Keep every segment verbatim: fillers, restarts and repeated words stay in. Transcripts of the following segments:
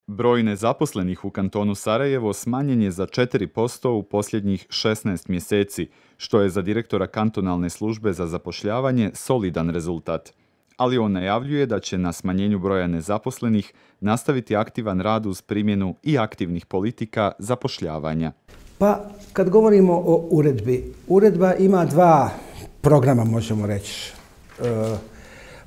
Broj nezaposlenih u kantonu Sarajevo smanjen je za četiri posto u posljednjih šesnaest mjeseci, što je za direktora kantonalne službe za zapošljavanje solidan rezultat. Ali on najavljuje da će na smanjenju broja nezaposlenih nastaviti aktivan rad uz primjenu i aktivnih politika zapošljavanja. Pa, kad govorimo o uredbi, uredba ima dva programa, možemo reći. E,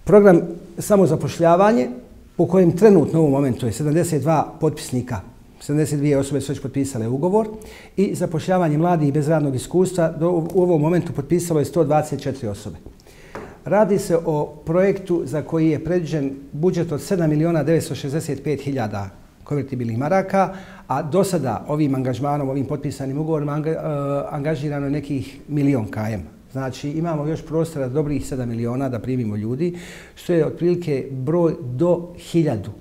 program samozapošljavanje, po kojem trenutno u ovom momentu je sedamdeset dva potpisnika, sedamdeset dvije osobe su već potpisale ugovor, i zapošljavanje mladih bez radnog iskustva do, u ovom momentu potpisalo je sto dvadeset četiri osobe. Radi se o projektu za koji je predviđen budžet od sedam milijuna devetsto šezdeset pet hiljada konvertibilnih maraka, a do sada ovim angažmanom, ovim potpisanim ugovorima anga, uh, angažirano je nekih milion kajem. Znači imamo još prostora dobrih sedam miliona da primimo ljudi, što je otprilike broj do hiljadu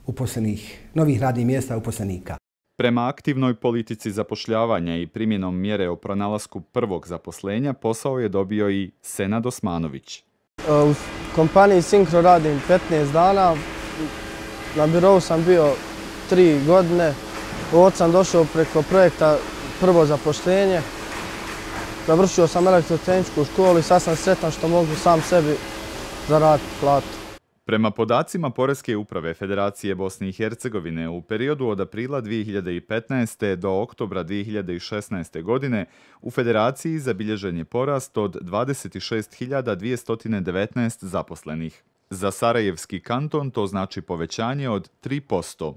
uposlenih, novih radnih mjesta uposlenika. Prema aktivnoj politici zapošljavanja i primjenom mjere o pronalasku prvog zaposlenja, posao je dobio i Senad Osmanović. U kompaniji Syncro radim petnaest dana, na birovu sam bio tri godine, ovdje sam došao preko projekta prvo zaposlenje, završio sam elektrotehničku školu i sad sam sretan što mogu sam sebi zaraditi platu. Prema podacima Poreske uprave Federacije Bosne i Hercegovine, u periodu od aprila dvije hiljade petnaeste. do oktobra dvije hiljade šesnaeste. godine u Federaciji zabilježen je porast od dvadeset šest hiljada dvjesto devetnaest zaposlenih. Za Sarajevski kanton to znači povećanje od tri posto.